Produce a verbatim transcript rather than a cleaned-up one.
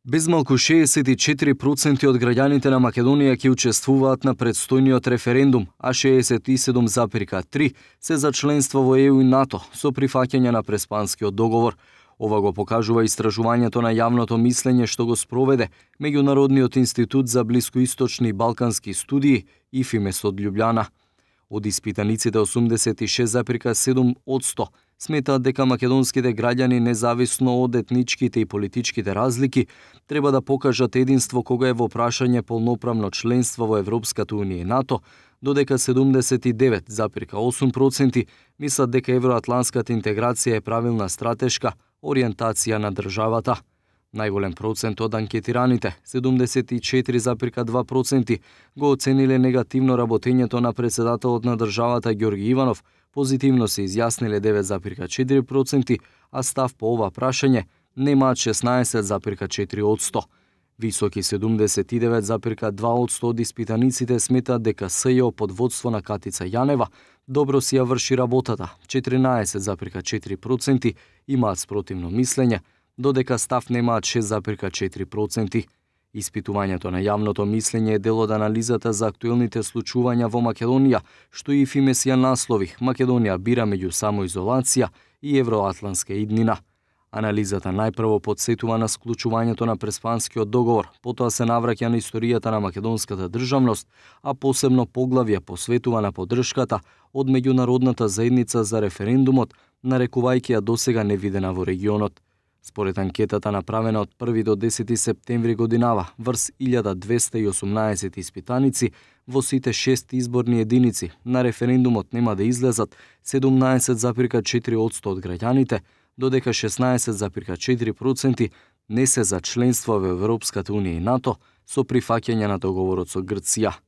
Безмалку шеесет и четири проценти од граѓаните на Македонија ќе учествуваат на предстојниот референдум, а шеесет и седум зарез три се за членство во Е У и НАТО со прифаќање на Преспанскиот договор. Ова го покажува истражувањето на јавното мислење што го спроведе Меѓународниот институт за блискоисточни и балкански студии И Ф И М Е С од Љубљана. Од испитаниците осумдесет и шест зарез седум одсто сметаат дека македонските граѓани, независно од етничките и политичките разлики, треба да покажат единство кога е во прашање полноправно членство во Европската унија и НАТО, додека седумдесет и девет зарез осум проценти мислат дека евроатланската интеграција е правилна стратешка ориентација на државата. Најголем процент од анкетираните, седумдесет и четири зарез два проценти, го оцениле негативно работењето на председателот на државата Ѓорги Иванов, позитивно се изјасниле девет зарез четири проценти, а став по ова прашање немаат шеснаесет зарез четири одсто. Високи седумдесет и девет зарез два одсто од испитаниците сметаат дека С Ј О под водство на Катица Јанева добро си ја врши работата, четиринаесет зарез четири проценти имаат спротивно мислење, додека став немаат шест зарез четири проценти. Испитувањето на јавното мислење е дел од анализата за актуелните случувања во Македонија, што И Ф И М Е С ја наслови Македонија бира меѓу самоизолација и евроатланска иднина. Анализата најпрво подсетува на склучувањето на Преспанскиот договор, потоа се навраќа на историјата на македонската државност, а посебно поглавје посветува на поддршката од меѓународната заедница за референдумот, нарекувајќи ја досега невидена во регионот. Според анкетата направена од први до десети септември годинава врз илјада двесте и осумнаесет испитаници во сите шест изборни единици, на референдумот нема да излезат седумнаесет зарез четири одсто од граѓаните, додека шеснаесет зарез четири проценти не се за членство во Европската унија и НАТО со прифаќање на договорот со Грција.